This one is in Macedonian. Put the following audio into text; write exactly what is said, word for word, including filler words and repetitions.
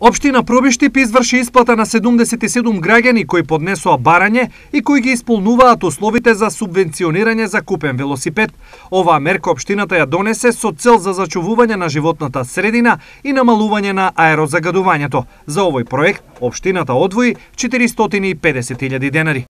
Општина Пробиштип изврши исплата на седумдесет и седум граѓани кои поднесоа барање и кои ги исполнуваат условите за субвенционирање за купен велосипед. Оваа мерка општината ја донесе со цел за зачувување на животната средина и намалување на аерозагадувањето. За овој проект општината одвои четиристотини и педесет илјади денари.